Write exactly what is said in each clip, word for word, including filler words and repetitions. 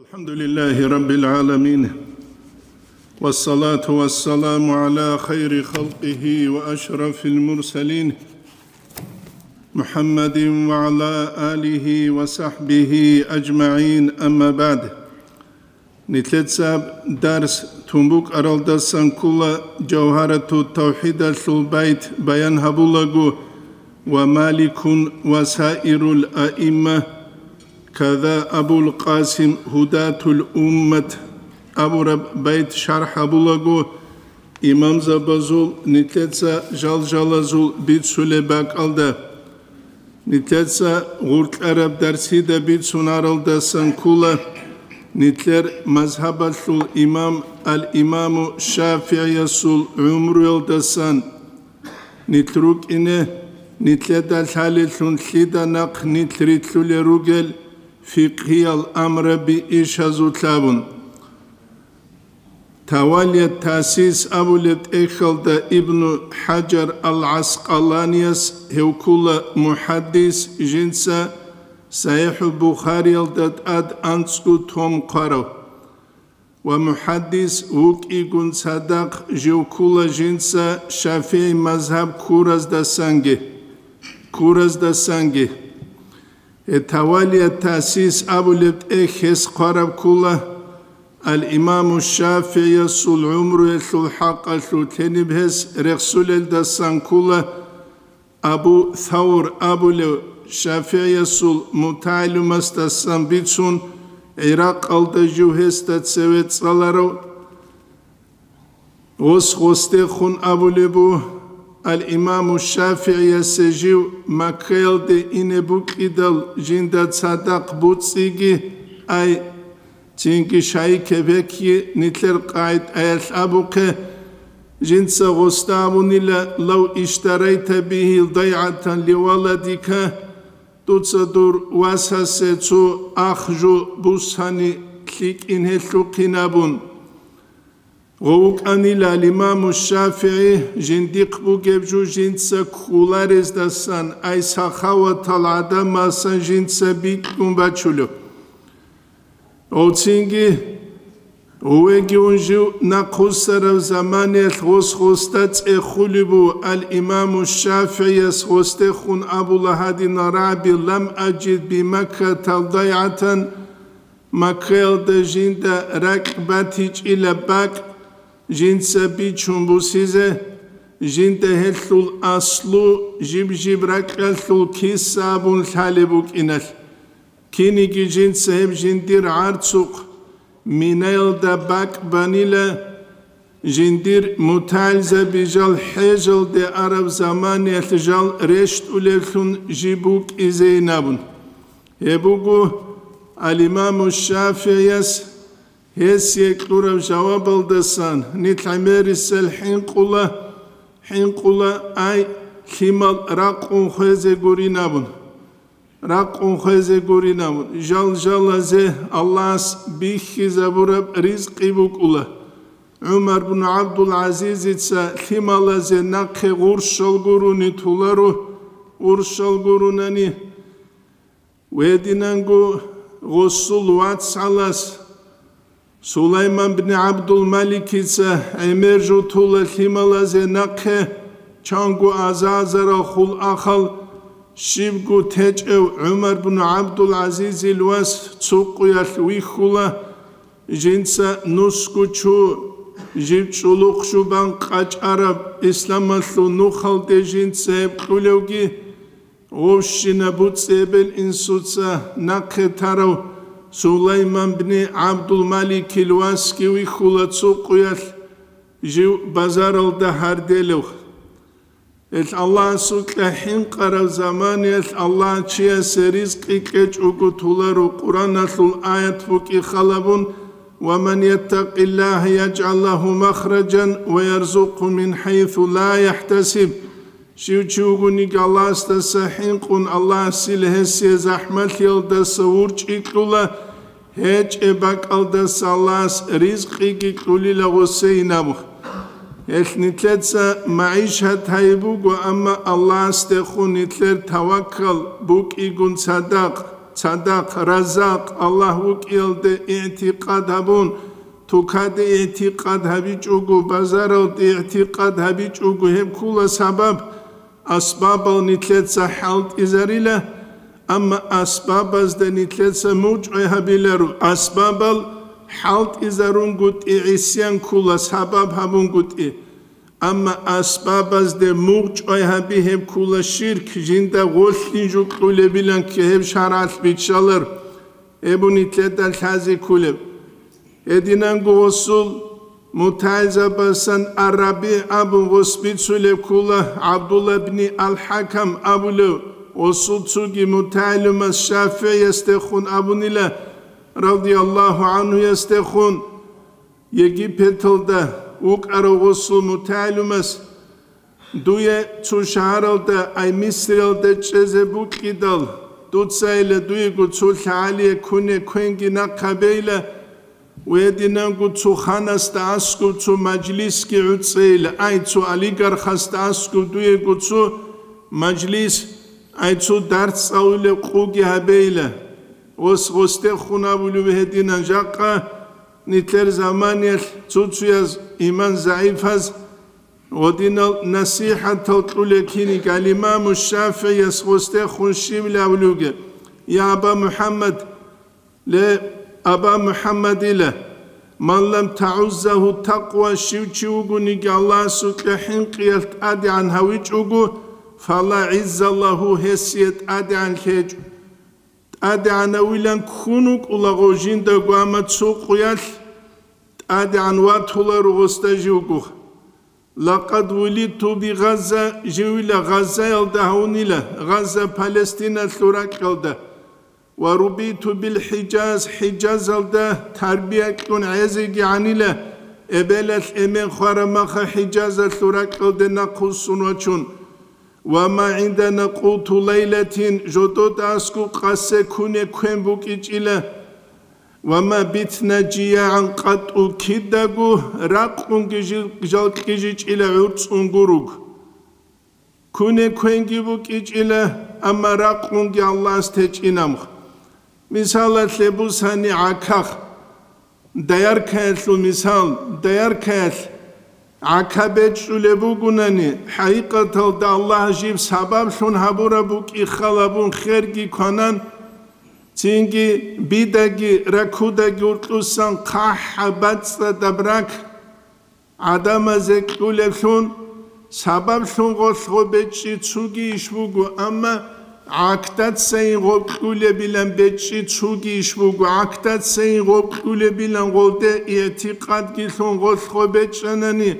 الحمد لله رب العالمين، والصلاة والسلام على خير خلقه وأشرف المرسلين، محمد وعلى آله وصحبه أجمعين، أما بعد. Нилъеца дарс тун букӀаралдасан ккола Жавгьарату тавхӀидалъул байт баян гьабулаго: «Ва Маликун ва саирул аимма, када Абул Къасим гьудатул уммат» абураб байт шархӀ гьабулаго имамзабазул нилъеца жалжалазул бицулеб бакӀалда. Нилъеца гъуркьараб дарсида бицунаралдасан ккола нилъер мазгьабалъул имам ал-Имаму ШафигӀиясул гӀумруялдасан. Нилъ рукӀине, нилъеда лъалелъун лъида нахъ нилъ рилълъулел ругел фикъгьиял амраби ишазулъ абун. Тавалият Тасис абулеб тӀехьалда Ибну ХӀажар ал-ГӀаскъаланияс гьев ккола мухӀаддис, жинца СахӀихӀул Бухариялда тӀад анцӀго том хъварав. Ва мухӀаддис вукӀигун цадахъ жив ккола жинца ШафигӀи мазгьаб ккураздасанги, ккураздасанги. Гье, Тавалият Тасис абулеб тӀехь гьес хъвараб ккола, ал-Имаму ШафигӀиясул гӀумруялъул хӀакъалъулъ гьениб гьес рехсулелдасан ккола, Абу Савр абулев ШафигӀиясул мутагӀалимасдасан бицун, ГӀиракъалда жив гьесда цеве цӀаларав. Гъос гъосдехун абулеб бу, ал-Имаму ШафигӀиясе жив Маккаялде ине букӀидал жинда цадахъ буцӀцӀиги ай, цинги шайикеб гьекги нилъер къагӀидаялъ абухъе, жинца гъосда абунила: «Лав иштарайта бигьи дайгӀатан ливаладика», дуца дур васасе цо ахжу бусани лъикӀин гьелъухъин абун. Гъов вукӀанила имаму ШафигӀи жиндихъ бугеб жо жинца кколарездасан, ай сахаватал гӀадамасан жинца бикьун бачулев. Гъовцинги, гъувеги ун жив нахъвуссарав заманиялъ гъос гъосда цӀехулеб бу, ал-Имаму ШафигӀияс гъосдехун абула гьадинал рагӀаби: «Лам аджид би Маккатал дайгӀатан», Маккаялда жинда ракь батичӀила бакӀ жинца бичун бусизе, жинда гьелъул аслу жиб-жиб ракьалъул киса абун лъалеб букӀиналъ. Киниги жинца гьеб жиндир гӀарцухъ Минаялда бакӀ банила, жиндир мутагӀилзаби жал хӀежалде араб заманиялъ жал рещтӀулевлъун жиб букӀизейин абун. Гьеб буго, ал-Имаму ШафигӀияс гьесие кьураб жавабалдасан нилъ гӀемерисел хӀинкъула, хӀинкъула, ай, лъимал ракъун хвезе гурин абун. Ракъун хвезе гурин абун, жал-жалазе Аллагьас бихьизабураб ризкъи букӀула. ГӀумар бун ГӀабдул-ГӀазизица лъималазе нахъе гъурщал гурони толаро, гъурщал гуронани. Гьединанго гъосул вацгӀалас Сулайман бни ГӀабдул-Маликица гӀемер жо тола лъималазе нахъе, чанго аза-азарал хул ахал, щибго течӀев ГӀумар бну ГӀабдул-ГӀазизил вас цо къуялъ вихьула, жинца нусго чу, жив чӀулухъ жубан къачӀараб исламалъул нухалде жинца гьеб кьулевги, Вовщина буцӀцӀи эбел-инсуца нахъе тарав Сулайман бни ГӀабдул-Маликил васги вихьула цо къуялъ, жив базаралда гьарделев. Гьел Аллагьасукьа хӀинкъарав заманиялъ Аллагь чиясе ризкъи кьечӀого толаро Къураналъул аят букӀи халабун: «Ва ман яттакъиллагьа яжгӀал лагьу махраджан ва ярзукъгьу мин хӀайсу ла яхӀтасиб». Щив чи вугониги Аллагьасдаса хӀинкъун, Аллагьасила гьесие захӀмалъиялдаса вурчӀи кьула, гьечӀеб бакӀалдаса Аллагьас ризкъиги кьулила гъосейин абу. Гьелъ нилъеца магӀишат гьайиб буго, амма Аллагьасдехун нилъер таваккал букӀигун цадахъ, Садакъ, Раззакъ Аллагь вукӀиялде игӀтикъад гьабун, тукаде игӀтикъад гьабичӀого, базаралде игӀтикъад гьабичӀого, гьеб ккула сабаб. Асбабал нилъеца хӀалтӀизарила, амма асбабазда нилъеца мугъчӀвай гьабиларо. Асбабал хӀалтӀизарунгутӀи гӀисян ккула, сабаб гьабунгутӀи. Амма асбабазде мугъчӀвай гьаби, гьеб ккула ширк, жинда гъолъин жо кьулебилан ккей гьеб шаргӀалъ биччалар, гьеб нилъеда лъази кколеб. Гьединанго гъосул мутагӀилзабасан ар-РабигӀ абун гъос бицулеб ккула, ГӀабдулла ибни ал-ХӀакам абулев, гъосул цоги мутагӀилумас ШафигӀиясдехун абунила, радияллагьу гӀанхуясдехун. Египеталда вукӀарав гъосул мутагӀилумас, дуе цо шагьаралда, ай Мисриялда чӀезе букӀидал, дуцайила дуего цо лъагӀалие куне квенги нахъ гьабейила, ва гьединанго цо ханасда аскӀоб цо мажлисги гӀуцӀейила, ай цо олигархасда аскӀоб дуего цо мажлис, ай цо дарс цӀалулеб къуги гьабейила. Гъос гъосдехун абулев гьединан жакъа, нилъер заманиялъ цо-цояз иман загӀипаз гъодинал насихӀатал кьулел кинигал имаму ШафигӀияс гъосдехун щибилан абулевги: «Я Аба МухӀаммад, ле, Аба МухӀаммадила, ман лам тагӀуззагьу такъва, щив чи вугониги Аллагьасукьа хӀинкъиялъ тӀадегӀан гьавичӀого, фала гӀизза лагьу, гьесие тӀадегӀан лъечӀо». ТӀадегӀанавилан ккун вукӀулаго жиндаго, амма цо къуялъ тӀадегӀан ватуларо гъосда живго. Лакъад вулидту би Газза, живила Газзаялда гьавунила, Газза Палестиналъул ракьалда. Ва рубиту бил ХӀижаз, ХӀижазалда тарбия кьун гӀезегигӀанила, эбелалъ эмен хварамаха ХӀижазалъул ракьалде нахъвуссун вачун. Ва ма гӀиндана къуту лайлатин, жодода аскӀоб къасе куне квен букӀичӀила. Ва ма битна жиягӀан къатӀу, кидаго ракъунги жи-, жал кьижичӀила гӀурцӀун гуруг. Куне квенги букӀичӀила, амма ракъунги Аллагьас течӀинамха. Мисалалъе бусани гӀаках. Даяркаялъул мисал, даяркаялъ гӀака бечӀчӀулеб бугунани, хӀакъикъаталда Аллагь жиб сабаблъун гьабураб букӀи халабун херги кванан, цинги бидаги ракудаги уркьусан хъахӀаб бацӀцӀадаб рак гӀадамазе кьулеблъун, сабаблъун гъолъго бечӀчӀи цуги иш буго, амма гӀакдацайин гъоб кьулебилан бечӀчӀи цуги иш буго, гӀакдацайин гъоб кьулебилан гъолде игӀтикъадги лъун гъолъго бечӀчӀанани,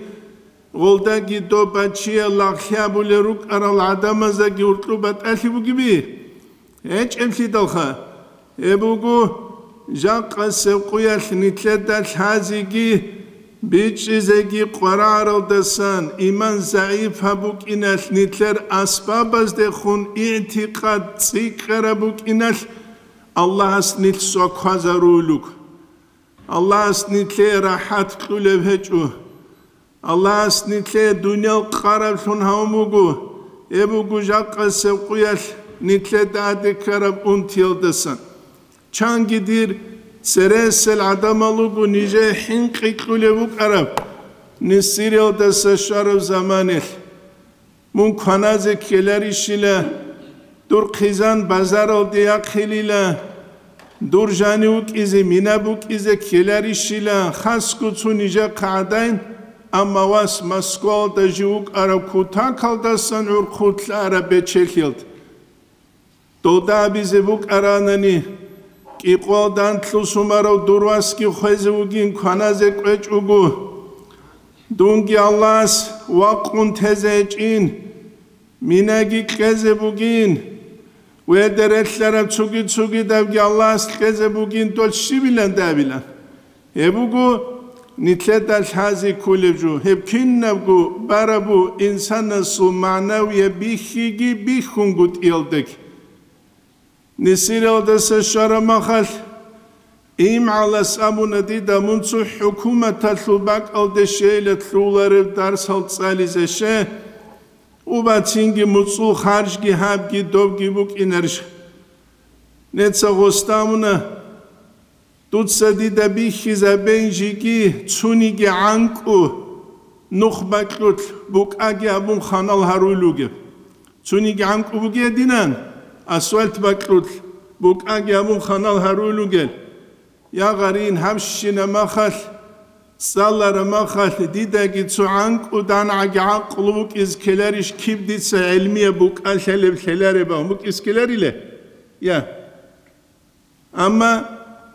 гъолдаги доб бачиял лагълъи абулел рукӀарал гӀадамаздаги уркьуб батӀалъи бугеби? ГьечӀеблъидалха. Гьеб буго, жакъасеб къуялъ нилъеда лъазеги, бичӀчӀизеги къварагӀаралдасан, иман загӀип гьаб букӀиналъ, нилъер асбабаздехун игӀтикъад цӀикӀкӀараб букӀиналъ, Аллагьас нилъ сваквазаруйлуг. Аллагьас нилъее рахӀат кьулеб гьечӀо. Аллагьас нилъее дуниял къараблъун гьавун буго, гьеб буго жакъасеб къуялъ нилъеда тӀаде ккараб унтиялдасан. Чанги дир цересел гӀадамал руго нижее хӀинкъи кьулеб букӀараб, Мисриялдаса щвараб заманалъ. Мун кваназе ккеларищила, дур хъизан базаралде яхъилила, дур жанив вукӀизе, мина букӀизе ккеларищила, хасго цо нижехъа гӀадин, амма вас Москвалда жив вукӀарав кутакалдасан гӀурхъулъ араб бечелъиялда. Долда абизе букӀаранани, кӀикъоялда анлъго сумарав дур васги хвезе вугин кваназе кӀвечӀого. Дунги Аллагьас вакъун тезе гьечӀин, минаги кьезе бугин, ва гьелда релълъараб цоги-цогидабги Аллагьас кьезе бугин, дол щибилан дабилан. Гьеб буго нилъеда лъази кколеб жо, гьеб кинабго барабу инсанасул магӀнавияб бихьиги бихьунгутӀиялдаги. Мисриялдаса щвараб махалъ, имгӀалас абуна дида, мун цо хӀукуматалъул бакӀалде щейила лъугьулареб дарсал цӀализе, ше, убацинги муцӀул харжги гьабги добги букӀинарищ? Неца гъостамуна, дуца дида бихьизабейин жиги цуниги гӀанкӀу нух бакьулъ букӀаги абун ханал гьаруй лугеб. Цуниги гӀанкӀу бугединан, асфальт бакьулъ букӀаги абун ханал гьаруй лугел. Я гъарин, гьабщина махалъ, цӀалара махалъ, дидаги цо гӀанкӀу дангӀаги гӀакълу букӀиз ккеларищ, киб дица гӀелмияб букӀа лъалеб лъелареб букӀиз ккеларила? Я. Амма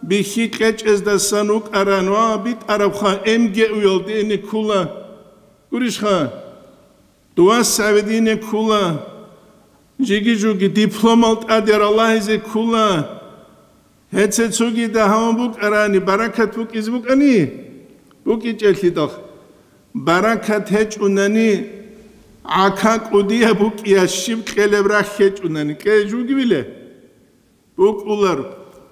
бихьи кьечӀездасан вукӀаран ва битӀарабха, МГУ-ялде ине ккула. Гурищха? Дувас гьавидине ккула, жиги-жуги дипломал тӀаде ралагьизе ккула. Гьеце цогида гьавун букӀарани, баракат букӀизе букӀани? БукӀичӀелъидал. Баракат гьечӀунани, гӀака кӀудияб букӀия щиб кьелеб рахь гьечӀунани, кье жугивиле? БукӀулар.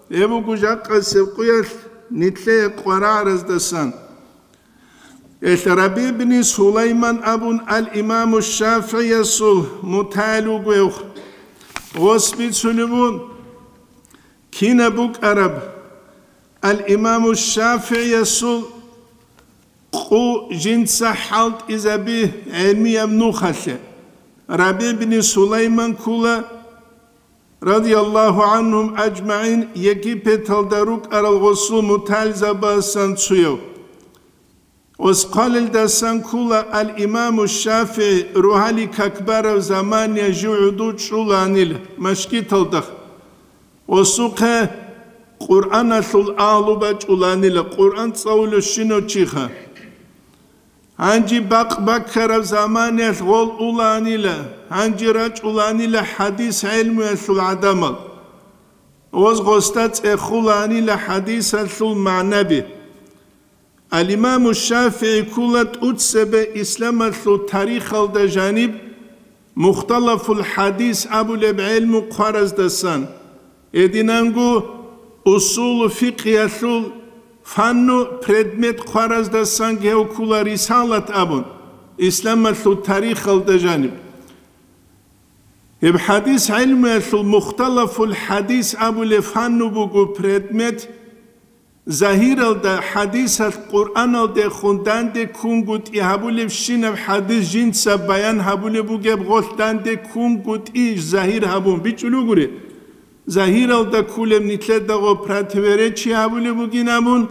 Гьеб буго жакъасеб къуялъ нилъее къварагӀараздасан. Гьелъ Раби ибни Сулайман абун ал-Имаму ШафигӀиясул мутагӀил вугевх. Гъос бицунеб бун, кинаб букӀараб ал-Имаму ШафигӀиясул къу жинца хӀалтӀизаби гӀемияб нухалъе. Раби ибни Сулайман ккула, радияллагьу гӀангьум ажмагӀин, Египеталда рукӀарал гъосул мутагӀилзабасан цуяв. Оскъалилдасан ккула ал-Имаму ШафигӀи, рогьалил как бараб замания жив гӀодов чӀуланил машгиталда. Осухъе Къуръаналъул агьлу бачӀуланила, Къуръан цӀалулев щинав чиха. Гьанже бакъ баккараб заманиялъ гъол уланила, гьанже рачӀуланила хӀадис гӀелмуялъул гӀадамал. Оз гъосда цӀехуланила хӀадисалъул магӀнаби. Ал-Имаму ШафигӀи ккула тӀуцебе исламалъул тарихалда жаниб Мухталафул хӀадис абулеб гӀелму хъвараздасан, гьединанго усулу фикъгьиялъул фанну предмет хъвараздасан гьев ккула рисалат абун, исламалъул тарихалда жаниб. Гьеб хӀадис гӀелмуялъул Мухталафул хӀадис абулеб фанну буго предмет, загьиралда хӀадисалъ Къуръаналдехун данде ккунгутӀи гьабулебщинаб хӀадис жинца баян гьабулеб бугеб гъолъ данде ккунгутӀи загьир гьабун бичӀчӀулев гури. Загьиралда кколеб нилъедаго противоречие гьабулеб бугин абун,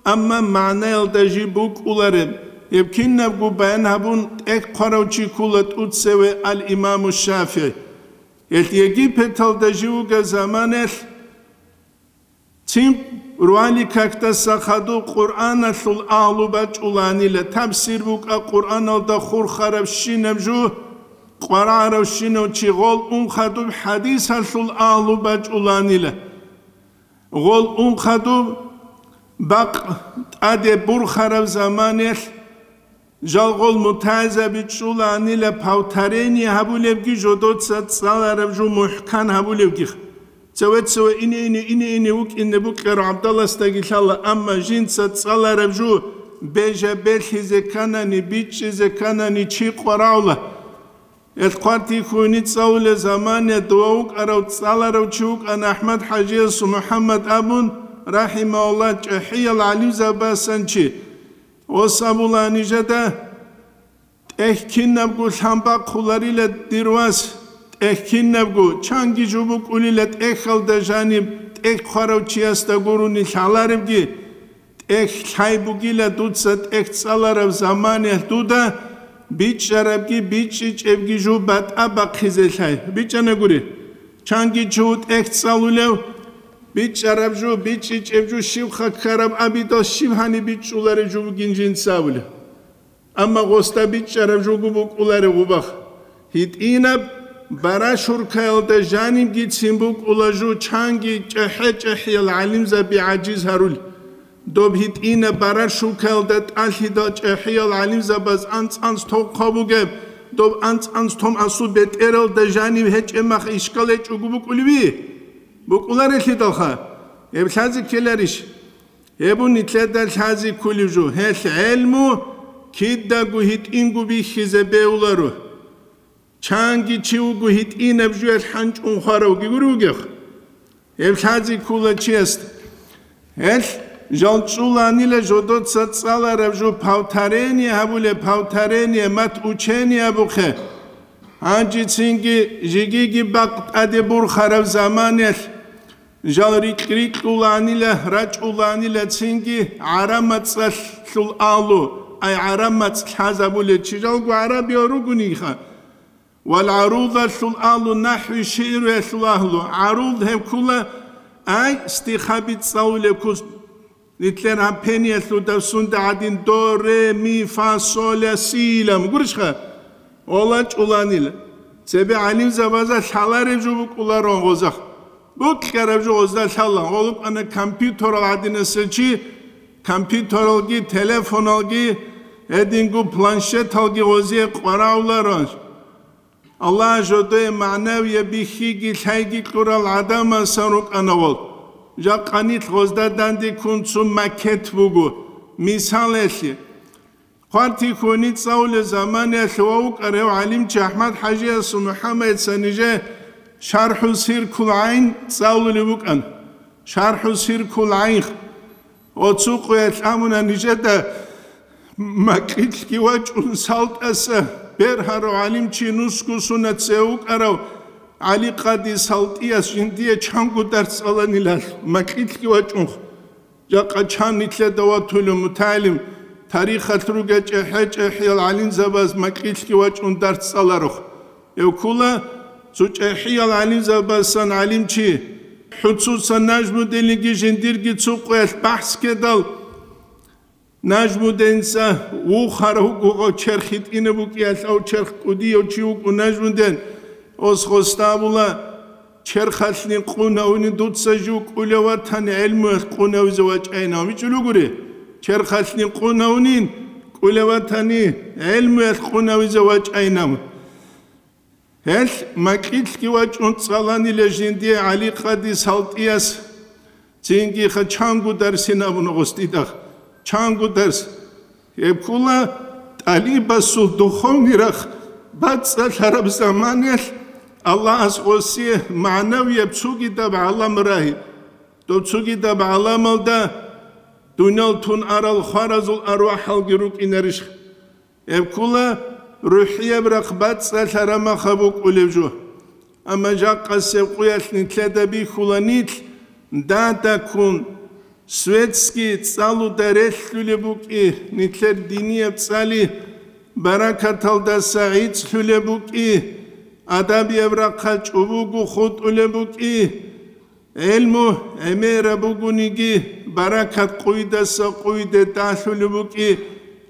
амма магӀнаялда жиб букӀулареб, гьеб кинабго баян гьабун тӀехь хъварав чи ккула тӀуцеве ал-Имаму ШафигӀи. Гьелъ Египеталда жив вугеб заманаялъ, цин руали какдаса хадуб Къуръаналъул агьлу бачӀуланила, тафсир букӀа Къуръаналда хурхарабщинаб жу, къварагӀаравщинав чи гъол ун хадуб хӀадисалъул агьлу бачӀуланила. Гъол ун хадуб бакъ тӀаде бурхараб заманаялъ, жал гъол мутагӀилзаби чӀуланила повторение гьабулебги жодоца цӀалараб жу мухӀкан гьабулебги. Цеве-цеве ине-ине, ине-ине вукӀине букӀараб гӀабдаласдаги лъала, амма жинца цӀалараб жу бежа-берлъизе кканани, бичӀчӀизе кканани чи къварагӀула. Эл хъвартихьуни цӀалулел замане дова вукӀарав цӀаларав чи вукӀана АхӀмад-хӀажиясул МухӀаммад абун, рахӀимагьуллагь, чӀахӀиял гӀалимзабасан чи. Ос абула нижеда, тӀехь кинабго лъан бахъуларила дир вас, тӀехь кинабго, чанги жо букӀулила тӀехьалда жаниб тӀехь хъварав чиясда гурони лъаларебги, тӀехь лъай бугила дуца тӀехь цӀалараб заманаялъ дуда бичӀчӀарабги бичӀчӀичӀебги жо батӀа бахъизе лъай. БичӀчӀана гури. Чанги чи тӀехь цӀалулев, бичӀчӀараб жо, бичӀчӀичӀеб жо щибха ккараб абидал щиб гьаниб бичӀчӀулареб жо бугин жинца абулев. Амма гъосда бичӀчӀараб жого букӀулареб гъубах. ГьитӀинаб барашуркаялда жанибгицин букӀула жо, чанги чӀахӀи-чӀахӀиял гӀалимзаби гӀажиз гьарул. Доб гьитӀинаб барашуркаялда тӀалъидал чӀахӀиял гӀалимзабаз анцӀ-анцӀ тохъа бугеб, доб анцӀ-анцӀ том асул бетӀералда жанив гьечӀеб мах ишкал гьечӀого букӀулеви? БукӀуларелъидалха, гьеб лъазе ккеларищ? Гьеб нилъеда лъазе кколеб жо, гьелъ гӀелму кидаго гьитӀинго бихьизе бегьуларо. Чанги чи вуго гьитӀинаб жуялъ хӀанчӀун хваравги гури вугев. Гьеб лъазе ккола чиясда. Гьелъ жал чӀуланила жодоца цӀалараб жо, повторение гьабулеб, повторение, мат учение абухъе. Гьанжецинги жигиги бакъ тӀаде бурхараб заманалъ жал рикь-рикьуланила, рачӀуланила цинги гӀараб мацӀалъул агьлу, ай гӀараб мацӀ лъазабулел чи жалго гӀарабиял ругониха. Вал гӀарудалъул агьлу, нахӀви шигӀруялъул агьлу. ГӀаруд гьеб ккола, ай, стихаби цӀалулеб ккус. Нилъер гьаб пениялъул давсунда гӀадин до, ре, ми, фа, со, ля, си илан гурищха? Ола чӀуланила. Цебе гӀалимзабазда лъалареб жо букӀуларо гъозда. Бокьараб жо гъозда лъала. Гъолукъана компьютерал гӀадинасел чи, компьютералги, телефоналги, гьединго планшеталги гъозие къварагӀуларо. Аллагь жодое магӀнавияб бихьиги лъайги кьурал гӀадамасан рукӀана гъол. Жакъа нилъ гъозда данде ккун цо макет буго, мисалалъе. Хъвартихьуни цӀалулел заманаялъ ва вукӀарав гӀалимчи АхӀмад-хӀажиясул МухӀаммадица нижее ШархӀу Сиркул ГӀайн цӀалулев вукӀана. ШархӀу Сиркул ГӀайн. Оцу къуялъ амуна нижеда макьилъги вачӀун салтӀаса бергьарав гӀалимчи нусго сунат цеве вукӀарав ГӀали-къади СалтӀияс жиндие чанго дарс цӀаланилал, макьилъги вачӀунх. Жакъа чан нилъеда ватулев мутагӀилим, тарихалъ ругел чӀехӀе-чӀехӀиял гӀалимзабаз макьилъги вачӀун дарс цӀаларухъ. Гьев ккола цо чӀехӀиял гӀалимзабасан гӀалимчи, хӀуцусан Нажмудинги жиндирги цо къуялъ бахӀс ккедал, Нажмудинца вухарав вуго, черх гьитӀинаб букӀиялъ, ав черх кӀудияв чи вукӀун Нажмудин, ос гъосда абула, черхалъни къунавни дуца жив кӀулев ватани гӀелмуялъ къунавизе вачӀайинав. ВичӀулугури, черхалъни къунавнин кӀулев ватани гӀелмуялъ къунавизе вачӀайинав. Гьелъ макьилъги вачӀун цӀаланила жиндие ГӀали-къади СалтӀияс, цинги ха чанго дарсин абуна гъосдидахъ, чанго дарс. Гьеб ккола тӀалибасул духовный рахъ бацӀцӀалъараб заманаялъ Аллагьас гъосие магӀнавияб цогидаб гӀалам рагьи. Доб цогидаб гӀаламалда дуниял тун арал хваразул арвахӀалги рукӀинарищ? Гьеб ккола рухӀияб рахъ бацӀцӀалъараб махаб букӀулеб жо. Амма жакъасеб къуялъ нилъеда бихьула нилъ дадаккун, светский цӀалуда релълъулеб букӀи, нилъер динияб цӀали баракаталдаса гӀицӀлъулеб букӀи, адабияб рахъал чӀобого хутӀулеб букӀи. ГӀелму гӀемераб бугониги, баракат къуйдаса къуйде далъулеб букӀи,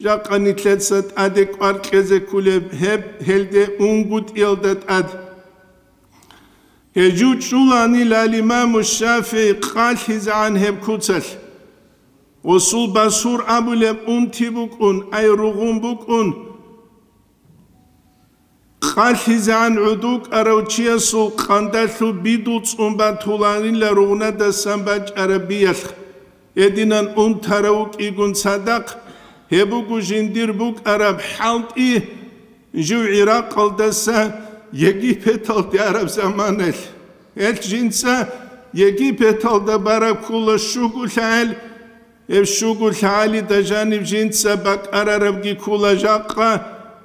жакъа нилъеца тӀаде кӀвар кьезе кколеб гьеб гьелде унгутӀиялда тӀад. Гьежу чӀуланила имаму ШафигӀи къалъизегӀан гьеб куцалъ. Усул басур абулеб унти букӀун, ай ругъун букӀун. КъалъизегӀан гӀодов кӀарав чиясул къандалъул бидул цӀун батуланила ругънадасан бачӀараб биялъ. Гьединан унтарав вукӀигун цадахъ, гьеб буго жиндир букӀараб хӀалтӀи, жив ГӀиракъалдаса Египеталде араб заманалъ. Гьелъ жинца Египеталда бараб ккола щуго лъагӀел, гьеб щуго лъагӀалида жаниб жинца бакӀарарабги ккола жакъа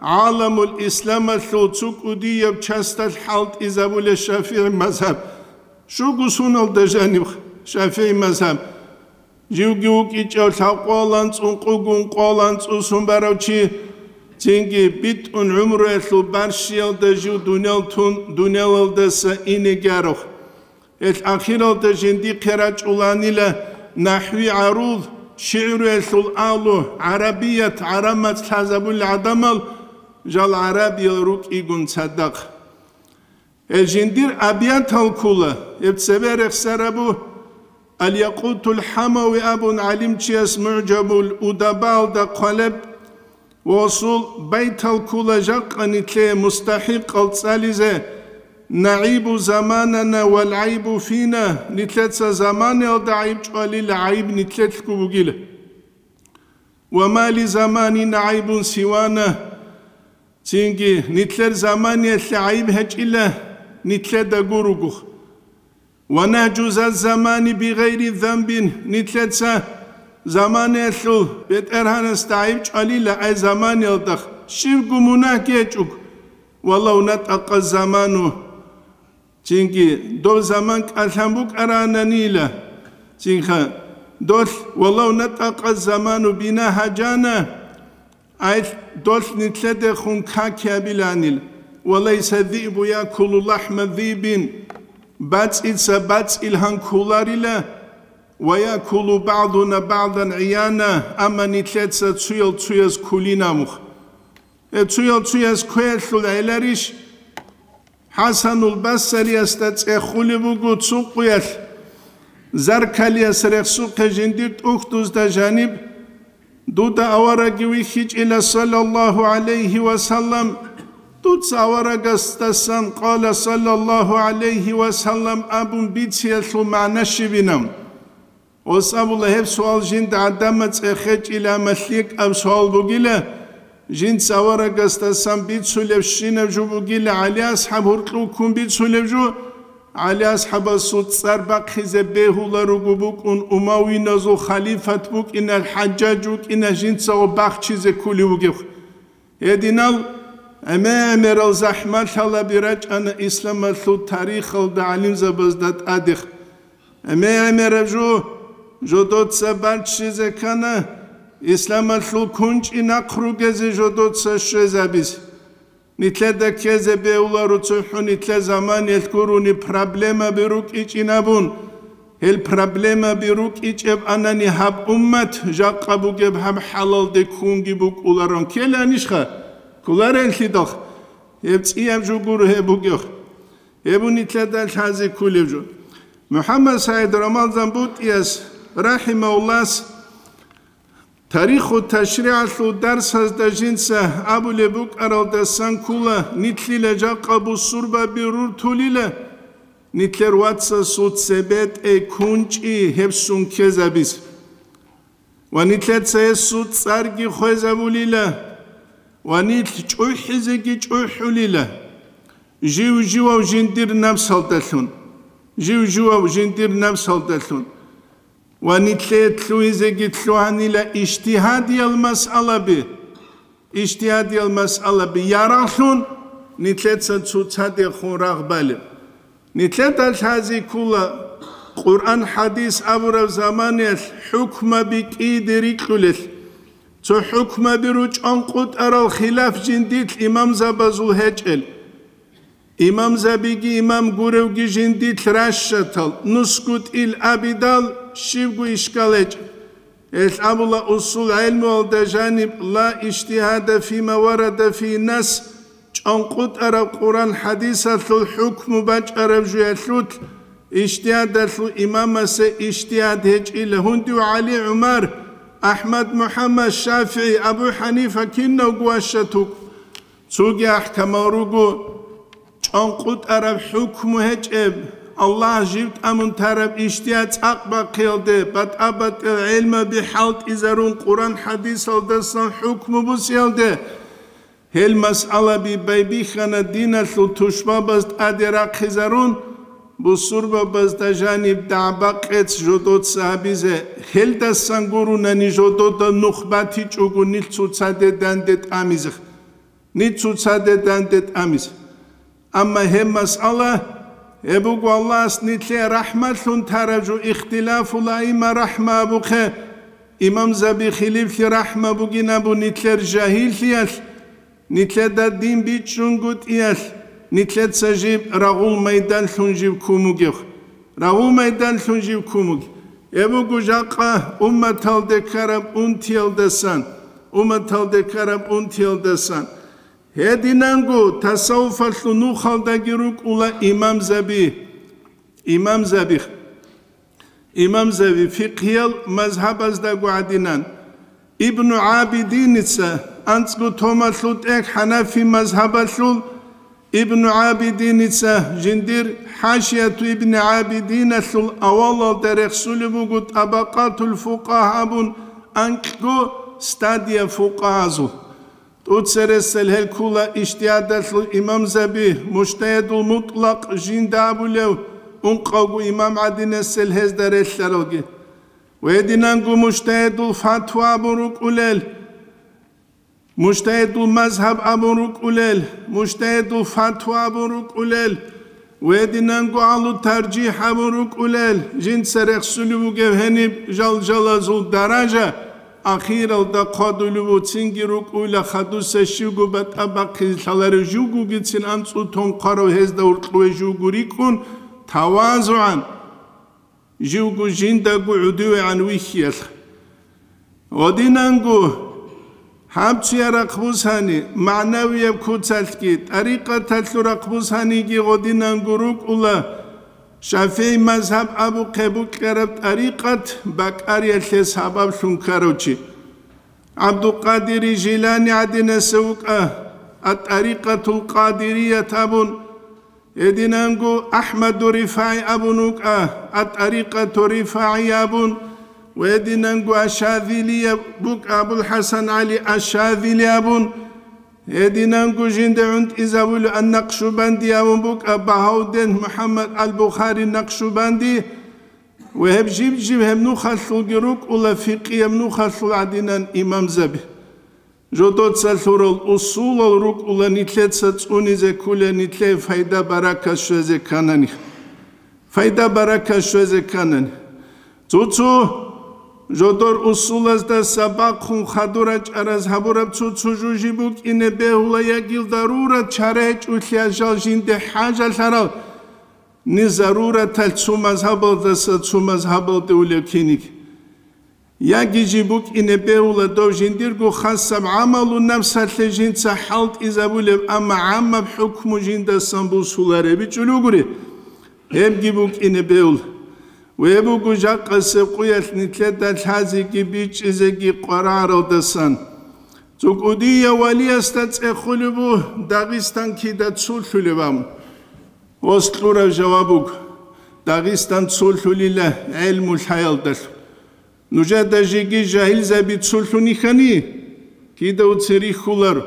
гӀаламул исламалъул цо кӀудияб часталъ хӀалтӀизабулеб ШафигӀи мазгьаб. Щуго суналда жаниб ШафигӀи мазгьаб. Живги вукӀичӀав лъабкъоялда анцӀ ункъугун къоялда анцӀ усун барав чи, цинги битӀун гӀумруялъул барщиялда жив дуниял тун, дуниялалдаса инеги арухъ. Гьелъ ахиралда жиндихъе рачӀуланила нахӀви гӀаруз, шигӀруялъул агьлу, гӀарабият, гӀараб мацӀ лъазабулел гӀадамал, жал гӀарабиял рукӀигун цадахъ. Гьел жиндир абиятал ккола, гьеб цебе рехсарабу Аль-Якъутул ХӀамави абун гӀалимчияс МугӀжабул Удабаалда хъвалеб, ва усул байтал ккола жакъа нилъее мустахӀикъал цӀализе: «НагӀибу заманана вал гӀайбу фина», нилъеца заманаялда гӀайиб чӀвалила, гӀайиб нилъелъго бугила. «Ва ма ли заманина гӀайбун сивана», цинги нилъер заманиялъе гӀайиб гьечӀила нилъеда гуругух. «Ва нагьжу за замани би гъайри занбин», нилъеца заманиялъул БетӀергьанасда гӀайиб чӀвалила, ай заманиялда щибго мунагь гьечӀого, «ва лав натӀакъа заману», цинги доб заман кӀалъан букӀарананила, цинха долъ, «ва лав натӀакъа заману бина гьажана», ай долъ нилъедехун каки гьабиланил, «ва лайса зибу якулу лахӀма зибин», бацӀица бацӀил гьан кколарила, «ва якулу багӀдуна багӀдан гӀияна», амма нилъеца цуял цуяз ккулин абухъ. Э, цуял цуяз кквеялъул гӀеларищ? ХӀасанул Басариясда цӀехулеб буго цо къуялъ, заркалияс рехсухъе жиндир тӀухьдузда жаниб: «Дуда аварагги вихьичӀила, саллаллагьу гӀалайгьи ва саллам, дуца аварагасдасан къала, саллаллагьу гӀалайгьи ва саллам», абун бициялъул магӀна щибинаб? Ос абула, гьеб суал жинда гӀадамаз цӀехечӀила, амма лъикӀаб суал бугила, жинца аварагасдасан бицулебщинаб жо бугила, ГӀали асхӀаб гьуркьув ккун бицулеб жо, ГӀали асхӀабасул цӀар бахъизе бегьуларуго букӀун, умавиназул халифат букӀиналъ, ХӀажжаж вукӀиналъ жинцаго бахчизе ккулев вугев. Гьединал гӀемер-гӀемерал захӀмалъалаби рачӀана исламалъул тарихалда гӀалимзабазда тӀадехъ. ГӀемер-гӀемераб жо жодоца баччизе ккана, исламалъул кунчӀи нахъ ругезе жодоца щвезабизе. Нилъеда ккезе бегьуларо цохӀо нилъер заманиялъ гурони проблемаби рукӀичӀин абун. Гьел проблемаби рукӀичӀеб анани, гьаб уммат жакъа бугеб гьаб хӀалалде ккунги букӀуларан ккеланищха? Кколареллъидал гьеб цӀияб жо гуро гьеб бугеб. Гьеб нилъеда лъазе кколеб жо. МухӀаммад СагӀид Рамазан БутӀияс, рахӀимагьуллагь, Тариху ташригӀалъул дарсазда жинца абулеб букӀаралдасан ккола, нилъила жакъа бусурбаби руртулила, нилъер вацасул цебетӀей кунчӀи гьебсун ккезабизе. Ва нилъеца гьесул цӀарги хвезабулила, ва нилъ чӀухӀизеги чӀухӀулила, жив-живав жиндир напсалдалъун, жив-живав жиндир напсалдалъун. Ва нилъее лъугьизеги лъугьанила ижтигьадиял масъалаби, ижтигьадиял масъалаби ярагълъун, нилъеца цоцадехун рагъ балеб. Нилъеда лъази ккола, Къуръан-хӀадис абураб заманиялъ хӀукмаби кӀиде рикьулел. Цо хӀукмаби ручӀун къутӀарал хилаф жиндилъ имамзабазул гьечӀел. Имамзабиги имам гуревги жиндилъ ращатал, нусгутӀил абидал, щибго ишкал гьечӀеб. Гьелъ абула усул гӀелмуялда жаниб: «Ла ижтигьада фима варада фи нас», чӀанкъутӀараб Къуран-хӀадисалъул хӀукму бачӀараб жуялъулъ, ижтигьадалъул имамасе ижтигьад гьечӀила. Гьундив ГӀали, ГӀумар, АхӀмад, МухӀаммад, ШафигӀи, Абу ХӀанифа кинавго ващатук. Цоги ахӀкамал руго, чӀанкъутӀараб хӀукму гьечӀеб, Аллагь жив тӀамун тараб ижтигьад цӀакъ бахъиялде, батӀа-батӀиял гӀелмаби хӀалтӀизарун Къуран-хӀадисалдасан хӀукму бусиялде, гьел масъалаби байбихьана диналъул тушбабаз тӀаде рахъизарун, бусурбабазда жаниб дагӀба-къец жодоца гьабизе, гьелдасан гурунани жодода нух батичӀого нилъ цоцаде данде тӀамизе. Нилъ цоцаде данде тӀамизе. Амма гьеб масъала, гьеб буго Аллагьас нилъее рахӀмалъун тараб жо, ихтилафул аимма рахӀма абухъе, имамзаби хилифлъи рахӀма бугин абу нилъер жагьиллъиялъ, нилъеда дин бичӀчӀунгутӀиялъ, нилъеца жиб рагъул майданлъун жиб ккун бугев. Рагъул майданлъун жив ккун вугев. Гьеб буго жакъа умматалде ккараб унтиялдасан, умматалде ккараб унтиялдасан. Гьединанго тасаввуфалъул нухалдаги рукӀула имамзаби, имамзаби, имамзаби фикъгьиял мазгьабаздаго гӀадинан. Ибну ГӀабидиница, анцӀго томалъул тӀехь хӀанафи мазгьабалъул, Ибну ГӀабидиница жиндир ХӀашияту Ибни ГӀабидиналъул авалалда рехсулеб буго ТӀабакъатул фукъагьа абун анкьго стадия фукъагьазул. ТӀуцересел гьел ккула ижтигьадалъул имамзаби, мужтагьидул мутӀлакъ жинда абулев, ункъавго имам гӀадинасел гьезда релълъаралги. Гьединанго мужтагьидул фатва абун рукӀулел, мужтагьидул мазгьаб абун рукӀулел, мужтагьидул фатва абун рукӀулел, гьединанго агьлу таржихӀ абун рукӀулел, жинца рехсулев вугев гьениб жал-жалазул даража, ахиралда хъвадулев вуцинги рукӀуйла хадуса щивго батӀа бахъизе лъаларев живгогицин анцӀу тонхъарав гьезда гьоркьове живго рикӀкӀун тавазугӀан. Живго жиндаго гӀодовегӀан вихьиялъ. Гьединанго гьаб цуя рахъ бусани, магӀнавияб куцалъги, тӀарикъаталъул рахъ бусаниги гьединанго рукӀула, ШафигӀи мазгьаб абухъе букӀараб тӀарикъат бакӀариялъе сабаблъун ккарав чи. ГӀабдулкъадири Жилани гӀадинасев вукӀа, ат-ТӀарикъатул Къадирият абун, гьединанго АхӀмаду РифагӀи абун вукӀа, ат-ТӀарикъату РифагӀия абун, ва гьединанго Аш-Шазилияб букӀа, АбулхӀасан ГӀали Аш-Шазили абун, гьединанго жинда гӀунтӀизабулев Ан-Накъшубанди абун букӀа, Багьавдин МухӀаммад Ал-Бухари Накъшубанди, ва гьеб жиб-жиб гьеб нухалъулги рукӀула фикъияб нухалъул гӀадинан имамзаби. Жодоца лъурал усулал рукӀула нилъеца цӀунизе кколел, нилъее пайда-баракат щвезе кканани. Пайда-баракат щвезе кканани. Цо-цо жодор усулаздаса бахъун хадур рачӀараз гьабураб цо-цо жужи букӀине бегьула, ягил дарурат чара гьечӀолъиялъ жал жинде хӀажалъарал, ни зарураталъ цо мазгьабалдаса цо мазгьабалде улев киниг. Яги жиб букӀине бегьула дов жиндирго хасаб гӀамалу напсалъе жинца хӀалтӀизабулеб, амма гӀаммаб хӀукму жиндасан бусулареб бичӀчӀулев гури, гьебги букӀине бегьула. Гьеб буго жакъасеб къуялъ нилъеда лъазеги бичӀчӀизеги къвараралдасан. ЦӀукӀудияв валиясда цӀехулеб буго Дагъистан кида цолъулеб абун. Ос кьураб жаваб буго: Дагъистан цолъулила гӀелму лъаялдалъун. Нужеда жеги жагьилзаби цолъунихьани, кида уци рихьуларо.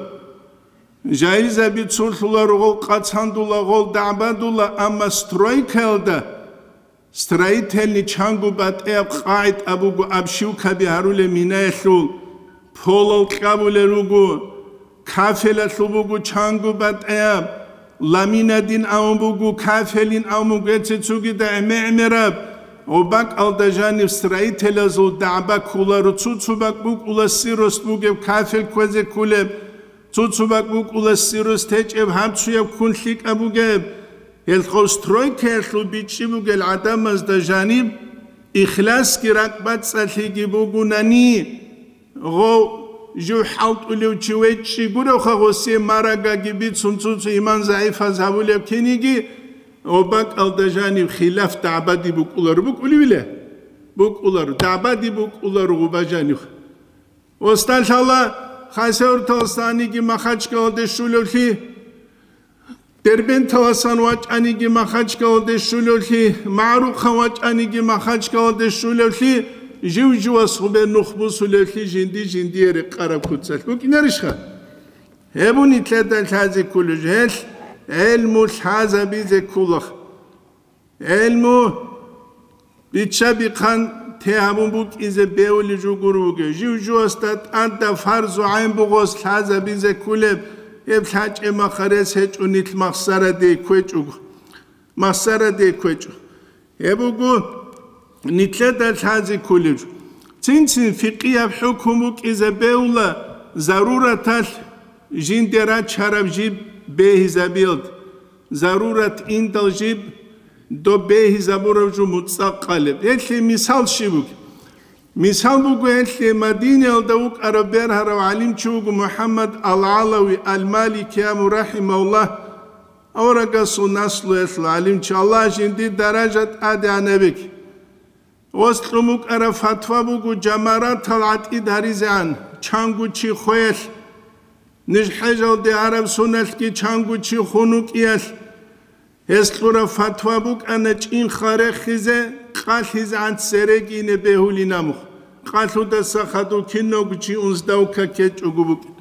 Жагьилзаби цолъуларо, гъол къацандула, гъол дагӀбадула, амма стройкаялда, строительный чанго батӀияб къагӀид абуго, обшивкаби гьарулеб минаялъул, полал кьабулел руго, кафелалъул буго чанго батӀияб, ламинадин абун буго, кафелин абун буго, эци цугида гӀемер-гӀемераб, ва бакӀалда жаниб строителазул дагӀба кколаро, цо-цо бакӀ букӀула сирост бугеб кафел кквезе кколеб, цо-цо бакӀ букӀула сирост гьечӀеб гьабцуяб ккун лъикӀаб бугеб. Гьелъ гъов стройкаялъул бичӀчӀи бугел гӀадамазда жаниб ихласги ракӀбацӀцӀалъиги бугунани, гъов жив хӀалтӀулев чи вечӀчӀи гуревха, гъосие марагаги бицун цо-цо иман загӀипаз гьабулеб киниги, ва бакӀалда жаниб хилаф дагӀбади букӀуларо, букӀуливила? БукӀуларо, дагӀбади букӀуларо гъуба жанив. Усталъала Хасавюрталасаниги Махачкалалде щулевлъи, Дербенталасан вачӀаниги Махачкалалде щулевлъи, МагӀрухъан вачӀаниги Махачкалалде щулевлъи, жив-живас гъубе нух бусулевлъи жинди-жиндие рекъараб куцалъ букӀинарищха? Гьеб нилъеда лъазе кколеб жо, гьелъ гӀелму лъазабизе ккола. ГӀелму бичча-бихъан те гьабун букӀизе бевулеб жо гуро бугеб. Жив-живасда тӀадаб фарзу гӀайн бугос лъазабизе кколеб, гьеб лъачӀеб махарес гьечӀо нилъ махсараде кквечӀого. Махсараде кквечӀо. Гьеб буго нилъеда лъазе кколеб жо. Цин-цин фикъияб хӀукму букӀизе бевула зарураталъ жинде рачараб жиб бегьизабиялда. Зарурат индал жиб доб бегьизабураб жо муцӀа къалеб. Гьелъие мисал щиб бугеб? Мисал буго, гьелъие Мадинаялда вукӀарав бергьарав гӀалимчи вуго МухӀаммад ал-ГӀалави ал-Малики абун, рахӀимагьуллагь, аварагасул наслуялъул гӀалимчи, Аллагь жиндир даража тӀадегӀан гьабеги. Ос кьун букӀараб фатва буго жамаратал гӀатӀид гьаризегӀан, чанго чи хвеялъ, ниж хӀежалде араб соналъги чанго чи хун вукӀиялъ. Гьес кьураб фатва букӀана чӀинхъа рехизе, къалъизегӀан цереги ине бегьулин абун. Къалъудаса хадув кинавго чи унздавка ккечӀого букӀин.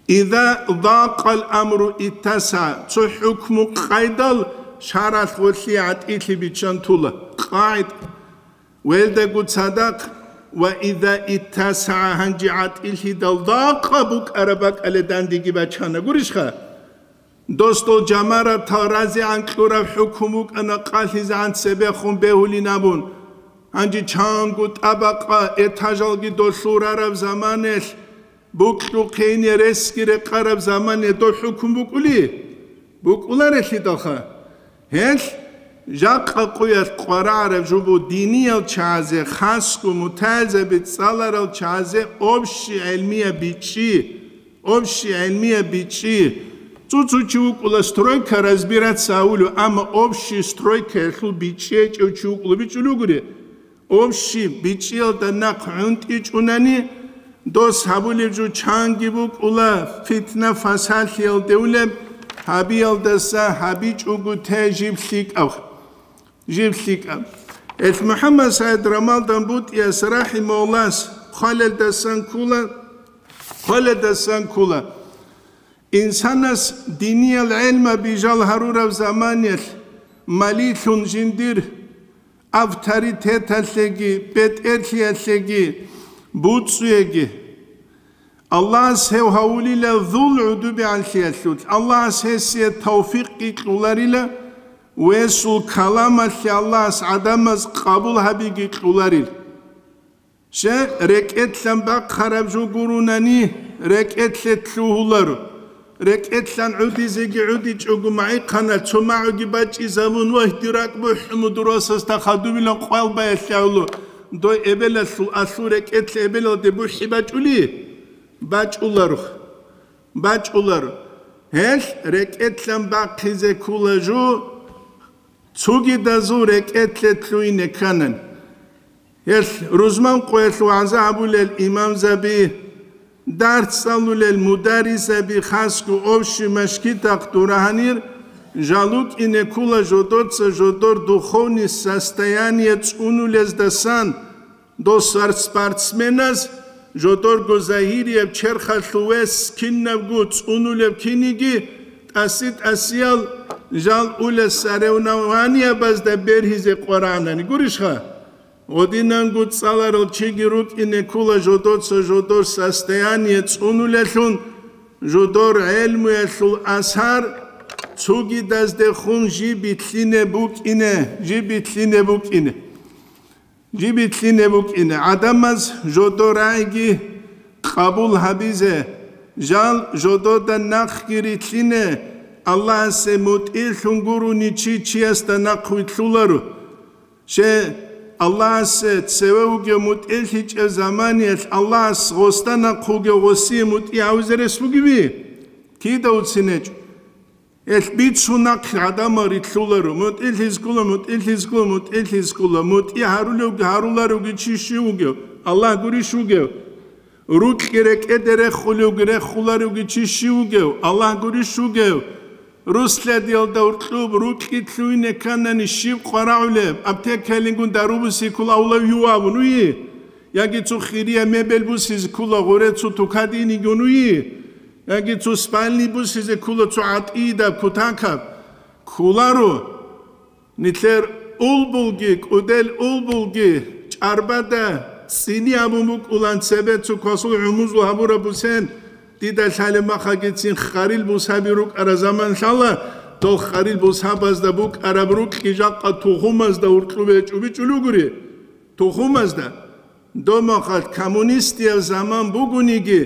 Иза дакъал амру иттаса, цо хӀукму къайдал шаралъ гъолъие гӀатӀилъи биччан тула. КъагӀид. Велдаго цадахъ, ва иза иттасагӀа, гьанже гӀатӀилъидал дакъа букӀараб бакӀалде дандеги бачана. Гурищха? Дос дол жамаратал разигӀан кьураб хӀукму букӀана къалъизегӀан цебехун бегьулин абун. Гьанже чанго тӀабакъа этажалги долъул рараб заманалъ, букьухъене ресги рекъараб заманалъ дол хӀукму букӀули? БукӀуларелъидалха. Гьелъ жакъа къуялъ къварагӀараб жо буго диниял чагӀазе, хасго мутагӀилзаби цӀаларал чагӀазе общий гӀелмияб бичӀчӀи, общий гӀелмияб бичӀчӀи. Цо-цо чи вукӀула стройка разбираться гьавулев, амма общий стройкаялъул бичӀчӀи гьечӀев чи вукӀула бичӀчӀулев гури. Общий бичӀчӀиялда нахъ гӀунтӀичӀунани, дос гьабулеб жо чанги букӀула, фитна-фасалъиялде улеб, гьабиялдаса гьабичӀого те жиб лъикӀаб. Жиб лъикӀаб. Гьелъ МухӀаммад СагӀид Рамалдан БутӀияс рахӀимагьуллагьас хъвалелдасан ккола, хъвалелдасан ккола. Инсанас диниял гӀелма бижал гьарураб заманалъ малилъун жиндир авторитеталъеги, бетӀерлъиялъеги, буцӀцӀуеги. Аллагьас гьев гьавулила зул гӀудубегӀанлъиялъулъ, Аллагьас гьесие тавфикъги кьоларила, весул каламалъе Аллагьас гӀадамаз къабул гьабиги кьоларил. Щай, рекӀелъан бахъараб жо гурунани, рекӀелъе лъугьуларо. РекӀелъан гӀудизеги гӀудичӀого магӀихъана, цо магӀуги бачӀизабун, вагь, дир ракӀ бухӀ, мудрасасда хадубилан къвалбаялъ гьавлу, дой эбелалъул алъул рекӀелъе эбелалде бухӀи бачӀули? БачӀуларо. БачӀуларо. Гьелъ рекӀелъан бахъизе ккола жо, цогидазул рекӀелъе лъугьине кканани. Гьелъ рузман къоялъ вагӀза гьабулел имамзаби, дарс цӀалулел мударрисаби, хасго общий машгитахъ дура гьанир, жал рукӀине ккола жодоца жодор духовный состояние цӀунулездасан, досар спортсменаз жодорго загьирияб черхалъувес кинабго цӀунулеб киниги, тӀаси-тӀасиял жал улес соревнованиябазда бергьизе къварагӀанани гурищха? Гъодинанго цӀаларал чиги рукӀине ккола жодоца жодор состояние цӀунулелъун, жодор гӀелмуялъул асар цугидаздехун жиб битлъине букӀине, жиб битлъине букӀине. Жиб битлъине букӀине. ГӀадамаз жодор рагӀиги къабул гьабизе, жал жодода нахъги рилълъине, Аллагьасе мутӀигӀлъун гурони чи чиясда нахъ вилълъуларо. Щай, Аллагьасе цеве вугев мутӀигӀлъичӀеб заманиялъ Аллагьас гъосда нахъ вугев гъосие мутӀигӀ гьавизе рес бугеви? Кида уцин гьечӀо. Гьелъ бицун нахъ гӀадамал рилълъуларо, мутӀигӀлъизе ккола, мутӀигӀлъизе ккола, мутӀигӀлъизе ккола, мутӀигӀ гьарулевги гьаруларевги чи щив вугев? Аллагь гурищ вугев? Рукьги рекӀеде рехулевги рехуларевги чи щив вугев? Аллагь гурищ вугев? Русладиялда уркьуб рукьги лъугьине кканани щиб къварагӀулеб? Аптекалингун дару бусизе ккола авлавиюв абун уйи? Яги цо хирия мебель бусизе ккола гъуре цо тукадинигун уйи? Яги цо спальни бусизе ккола цо гӀатӀидаб кутакаб? Кколаро. Нилъер улбулги, кӀудел улбулги, чӀарбада цӀини абун букӀулан цебе цо квасул гӀумузул гьабураб бусен, дида лъалеб махагицин харил бусаби рукӀараб заман лъала, дол харил бусабазда букӀараб рукьги жакъа тухумазда уркьубе чӀубичӀулугури. Тухумазда. Домахалъ коммунистияб заман бугониги,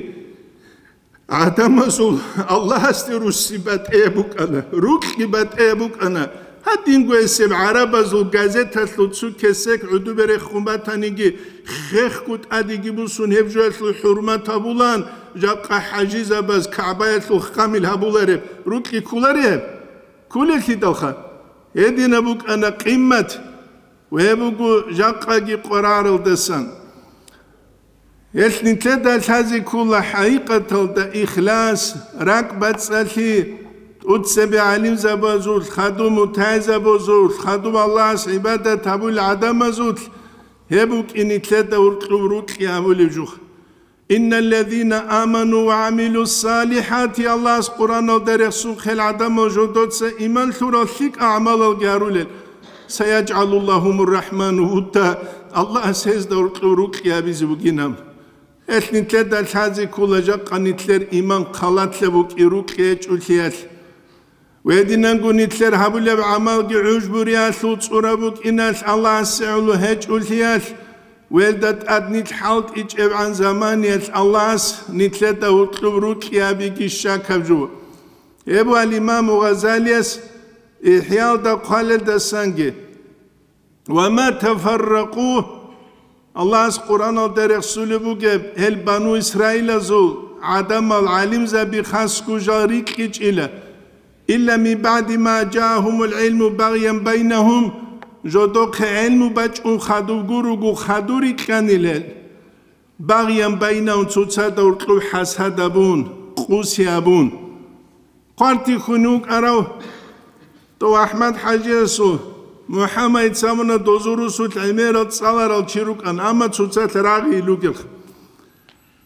гӀадамазул Аллагьасде русси батӀияб букӀана, рукьги батӀияб букӀана. Гьадинго гьесеб гӀарабазул газеталъул цо кесек гӀудубе рехун батаниги, хехго тӀадеги бусун гьеб жоялъул хӀурмат гьабулан, жакъа хӀажизабаз КагӀбаялъул хъамил гьабулареб рукьги кколареб? Кколелъидалха. Гьединаб букӀана къиммат, ва гьеб буго жакъаги къварагӀаралдасан. Гьелъ нилъеда лъазе ккола хӀакъикъаталда ихлас, ракӀбацӀцӀалъи, тӀоцебе гӀалимзабазул, хадуб мутагӀилзабазул, хадуб Аллагьас гӀибадат гьабулел гӀадамазул гьеб букӀин нилъеда уркьуб рукьи гьабулеб жух. «Инналлазина аману ва амилу салихати», Аллагьас Къуръаналда рехсун хел гӀадамал жодоца иман лъурал лъикӀа гӀамалалги гьарулел, «саяджгӀалуллагьумур рахману вудда», Аллагьас гьезда уркьув рукьи гьабизе бугинаб. Гьелъ нилъеда лъазе ккола жакъа нилъер иман халатлъа букӀи рукьи гьечӀулъиялъ. Гьединанго нилъер гьабулеб гӀамалги гӀужбуриялъул цӀура букӀиналъ Аллагьасе гӀоло гьечӀулъиялъ, велда тӀад нилъ хӀалтӀичӀебгӀан заманиялъ Аллагьас нилъеда гьуркьуб рукьи гьабиги щакаб жо. Гьеб ал-Имаму Гъазалияс ИхӀялда хъвалелдасанги: «Ва ма тафарракъу», Аллагьас Къуръаналда рехсулеб бугеб, гьел бану Исраилазул гӀадамал гӀалимзаби хасго жал рикьичӀила, «илла мин баъди ма жаагьумул гӀилму багъян байнагьум», жодохъе гӀилму бачӀун хадуб гуруго хадур рикьанил гьел, «багъян байнагьум», цоцазда гьуркьуб хӀасад абун, къуси абун. Хъвартихьун вукӀарав тӀов АхӀмад-хӀажиясул, МухӀаммадица абуна, дозул русулъ гӀемерал цӀаларал чи рукӀан, амма цоцалъ рагъи илугелха.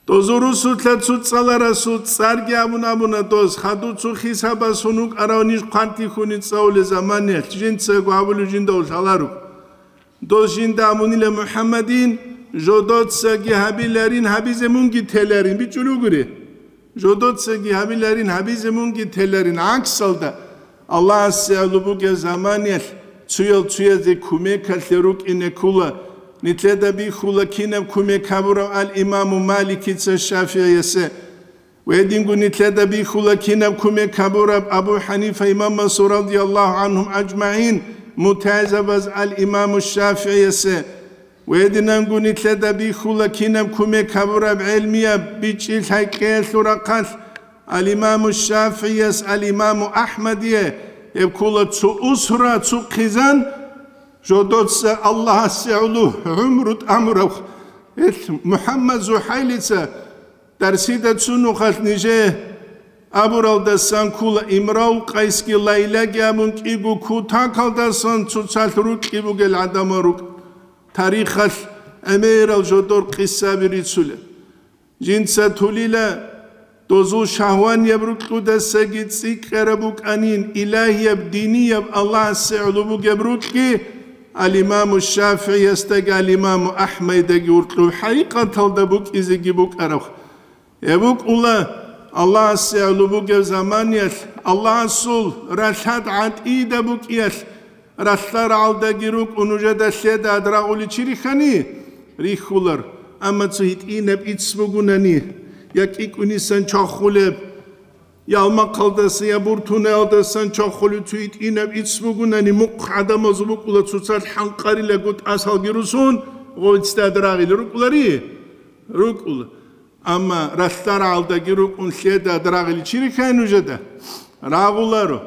Дозул русулъа цо цӀаларасул цӀарги абун абуна доз, хадув цо хисабасун вукӀарав ниж хъвартихьуни цӀалулел заманиялъ, жинцаго абулев жинда лъаларо. Дос жинда абунила МухӀаммадин, жодоцаги гьабиларин, гьабизе мунги теларин, бичӀчӀулев гури. Жодоцаги гьабиларин, гьабизе мунги теларин. ГӀаксалда, Аллагьасе гӀоло бугеб заманиялъ цуял цуязе кумекалъе рукӀине ккула, нилъеда бихьула кинаб кумек гьабурав ал-Имаму Маликица ШафигӀиясе. Гьединго нилъеда бихьула кинаб кумек гьабураб Абу ХӀанифа имамасул радияллагьу гӀанхум аджмагӀин мутагӀилзабаз ал-Имаму ШафигӀиясе. Гьединанго нилъеда бихьула кинаб кумек гьабураб гӀелмияб бичӀчӀи-лъай кьеялъул рахъалъ ал-Имаму ШафигӀияс, ал-Имаму АхӀмадие, гьеб ккула цо усра, цо хъизан, жодоца Аллагьасе гӀоло гӀумру тӀамурав, гьелъ МухӀаммад ЗухӀайлица Дарсида цунухъалъ нижее абуралдасан ккула, Имрул Къайсги Лайлаги абун кӀиго кутакалдасан цоцалъ рукьи бугел гӀадамал рукӀ. Тарихалъ гӀемерал жодор къисаби рицулел. Жинца тулила, дозул шагьванияб рукьудасаги цӀикӀкӀараб букӀанин, илагьияб, динияб, Аллагьасе гӀоло бугеб рукьги, ал-Имаму ШафигӀиясдаги ал-Имаму АхӀмайдаги уркьуб хӀакъикъаталда букӀизеги букӀараб. Гьеб букӀула, Аллагьасе гӀоло бугеб заманиялъ Аллагьасул ралъад гӀатӀида букӀиялъ, ралъдал рагӀалдаги рукӀун нужеда лъеда адрагъуличи рихьани, рихьулар. Амма цо гьитӀинаб ицц бугунани, я кӀикӀунисан чвахулеб, я алмахъалдаса, я буртунаялдасан чвахулеб цо гьитӀинаб ицц бугунани, мухъ гӀадамазул букӀула цоцалъ хӀанкъарилаго тӀасалги русун, гъовцӀда адрагъили рукӀулари? РукӀула. Амма ралъдал рагӀалдаги рукӀун лъеда адрагъили чи рихьай нужеда? Рагъуларо.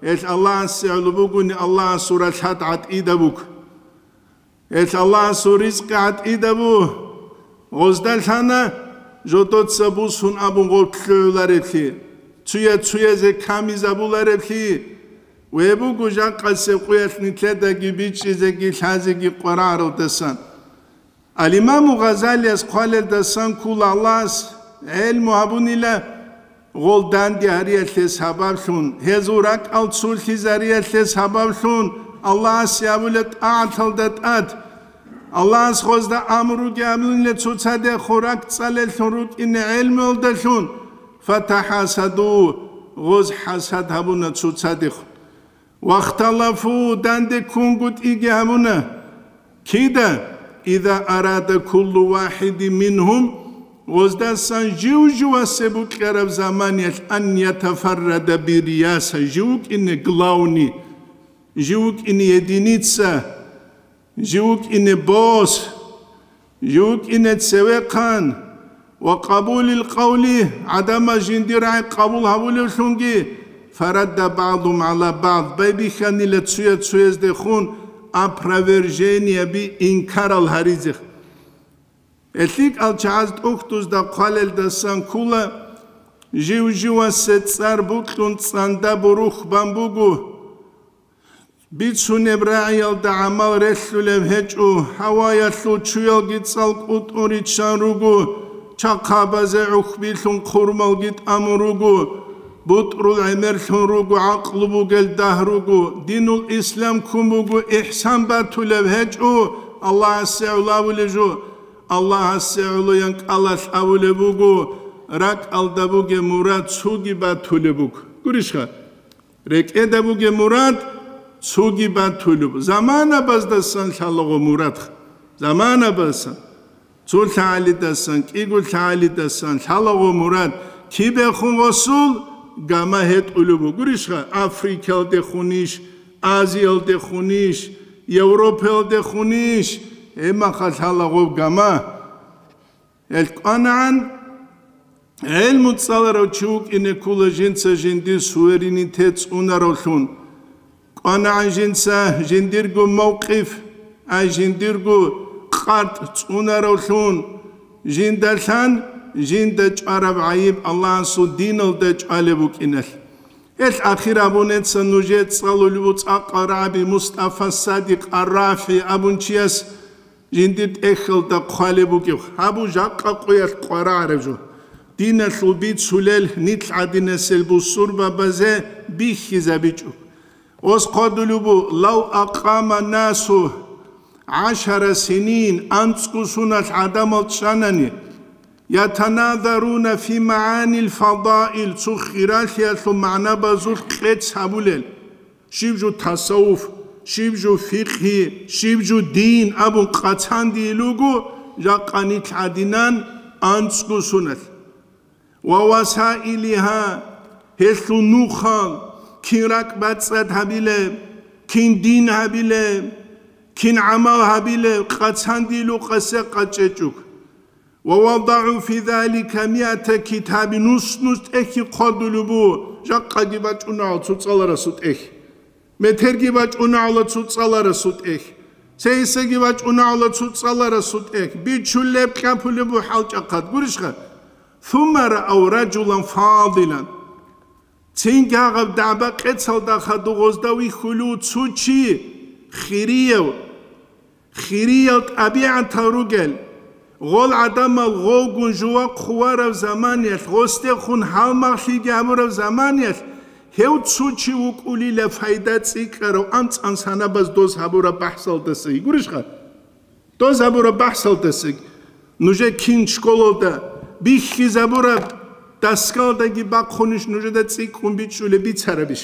Гьелъ Аллагьасе гӀоло бугони, Аллагьасул ралъад гӀатӀида буго. Гьелъ Аллагьасул ризкъи гӀатӀида буго. Гъозда лъана жодоца бусун абун гъоркь лъугӀулареблъи, цуя-цуязе камизабулареблъи. Ве буго жакъасеб къуялъ нилъедаги бичӀчӀизеги лъазеги къварагӀаралдасан. Ал-Имаму Гъазалияс хъвалелдасан ккула Аллагьас гӀелму гьабунила гъол данде гьариялъе сабаблъун, гьезул ракӀал цолъизариялъе сабаблъун Аллагьасе абула тӀагӀаталда тӀад. Аллагьас гъозда амруги абунила цоцадехун ракӀцӀалеллъун рукӀине гӀелмуялдалъун, фатахӀасаду, гъоз хӀасад гьабуна цоцадехун. Вахталафу, данде ккунгутӀиги гьабуна. Кида? Иза арада куллу вахидин мингьум, гъоздасан жив-живасе букӀараб заманиялъ, ан ятафаррада бирияса, жив вукӀине главный, жив вукӀине единица, жив вукӀине босс, жив вукӀине цевехъан, ва къабулил къавли, гӀадамаз жиндир рагӀи къабул гьабулевлъунги, фарадда баъдум гӀала баъд, байбихьанила цуя-цуяздехун опровержениеби, инкарал гьаризе. ГьелъикӀал чагӀаз тӀухьдузда хъвалелдасан ккула, жив-живасе цӀар букьун цӀанда бурух бан буго. Бицунеб рагӀиялда гӀамал релълъулеб гьечӀо, гьаваялъул чуялги цӀалкӀутӀун риччан руго, Чахъабазе гӀухьбилъун хъурмалги тӀамун руго, бутӀрул гӀемерлъун руго, гӀакълу бугел дагь руго, динул ислам ккун буго, ихсан батулеб гьечӀо, Аллагьасе гӀоло абулеб жо, Аллагьасе гӀоло ян кӀалалъ абулеб буго, ракӀалда бугеб мурад цоги батулеб буго. Гурищха? РекӀеда бугеб мурад цоги батулеб. Заманабаздасан лъалаго мурад. Заманабаздасан. Цо лъагӀалидасан, кӀиго лъагӀалидасан лъалаго мурад. Кибехун гъосул гама гьетӀулеб бугурищха? Африкаялдехунищ, Азиялдехунищ, Европаялдехунищ, гьебмаха лъалаго гама. Гьел кӀванагӀан, гӀелму цӀаларав чи вукӀине ккола жинца жиндир суверенитет цӀунаравлъун. КӀванагӀан жинца жиндирго мавкъиф, ай жиндирго къартӀ цӀунаравлъун, жиндалъан жинда чӀвараб гӀайиб Аллагьасул диналда чӀвалеб букӀиналъ. Гьелъ ахир абунеца нужее цӀалулев цӀакъа рагӀаби Мустафа Садикъ ар-РафигӀи абун чияс жиндир тӀехьалда хъвалеб бугеб, гьабу жакъа къоялъ къварагӀараб жо. Диналъул бицулел нилъ гӀадинасел бусурбабазе бихьизабичӀо. Ос хъвадулеб бу, лав акъама насу гӀашара синин, анцӀго суналъ гӀадамал чӀанани, ятаназаруна фи магӀанил фадаил, цо хиралъиялъул магӀнабазулъ къец гьабулел. Щиб жо тасаввуф, щиб жо фикъгьи, щиб жо дин абун къацандийил руго, жакъа нилъ гӀадинан анцӀго суналъ. Ва васаилиха, гьелъул нухал, кин ракӀбацӀцӀад гьабилеб, кин дин гьабилеб, кин гӀамал гьабилеб, къацандийил рукъасе къачӀечӀого. Ва вадагӀу фи залика миата китаби, нус-нус тӀехьги хъвадулеб бу, жакъаги бачӀунагӀал цо цӀаларасул тӀехь. Метерги бачӀунагӀала цо цӀаларасул тӀехь. Цейсаги бачӀунагӀала цо цӀаларасул тӀехь. Бичулеб кьапулеб бу хӀалчӀахъад. Гурищха? Сумма раав ражулан фадилан. Цинги гьагъаб дагӀба-къецалда хадув гъозда вихьулев цо чи, хирияв, хириял тӀабигӀатал ругел, гъол гӀадамал гъовгун жува хъуварав заманиялъ, гъосдехун гьалмагълъиги гьабурав заманиялъ, гьев цо чи вукӀулила пайда цӀикӀкӀарав анцӀан санабаз доз гьабураб бахӀсалдаса. Гурищха? Доз гьабураб бахӀсалдасаги, нужер кин школалда бихьизабураб доскалдаги бахъунищ нужеда цӀикӀкӀун бичӀчӀулеб бицарабищ?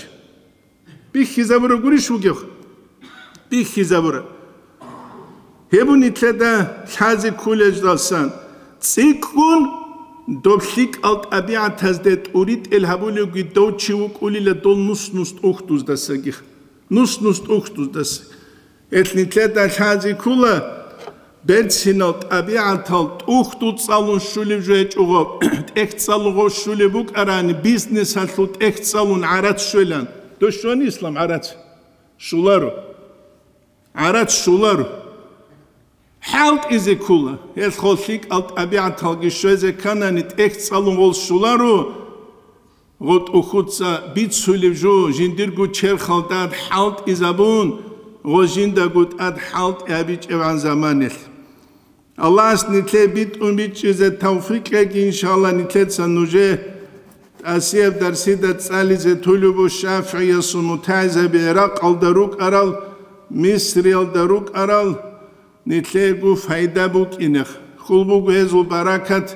Бихьизабураб гурищ вугев? Бихьизабураб. Гьеб нилъеда лъазе кколелдасан, цӀикӀкӀун доб лъикӀал тӀабигӀатазде тӀуритӀел гьабулевги дов чи вукӀулила дол нус-нус тӀухьдуздасаги. Нус-нус тӀухьдуздаса. Гьелъ нилъеда лъазе ккола, берцинал тӀабигӀатал тӀухьдул цӀалун щулеб жо гьечӀого, тӀехь цӀалуго щулеб букӀарани, бизнесалъул тӀехь цӀалун гӀарац щвелан. Дос щвани, Ислам, гӀарац? Щуларо. ГӀарац щуларо. ХӀалтӀизе ккола, гьелъ гъол лъикӀал тӀабигӀаталги щвезе кканани, тӀехь цӀалун гъол щуларо, гъо тӀухьуца бицулеб жо, жиндирго черхалда тӀад хӀалтӀизабун, гъо жиндаго тӀад хӀалтӀи гьабичӀебгӀан заманалъ. Аллагьас нилъее битӀун бичӀчӀизе тавфикъ кьеги, иншалла, нилъеца нужее тӀасияб дарсида цӀализе тулеб бу ШафигӀиясул мутагӀилзаби ГӀиракъалда рукӀарал, Мисриялда рукӀарал, нилъеего пайда букӀинех. Хьул буго гьезул баракат,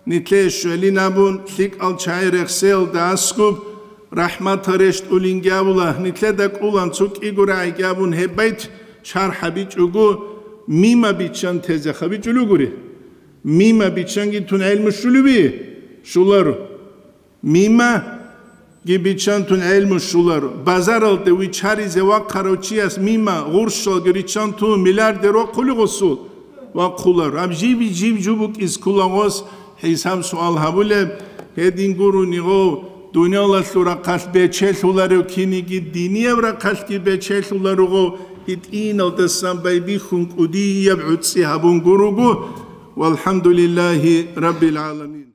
нилъее щвелин абун, лъикӀал чагӀи рехсеялда аскӀуб, рахӀматал рещтӀулинги абула, нилъеда кӀулан цо кӀиго рагӀиги абун гьеб байт шархӀ гьабичӀого, мима биччан тезе хабичӀулугури. Мима биччанги тун гӀелму щулеби? Щуларо. Мимаги биччан тун гӀелму щуларо. Базаралде виччаризе вахъарав чияс мима гъурщалги риччан тун миллиардер вахъули гъосул? Вахъуларо. Гьаб жиб-жиб жо букӀиз ккола гъос хӀисаб-суал гьабулеб, гьедин гурони гъов, дуниялалъул рахъалъ бечелъуларев киниги динияб рахъалъги бечелъуларуго, гьитӀиналдасан байбихьун кӀудияб гӀуцӀи гьабун гуруго. Валхамдулиллагьи раббил гӀаламин.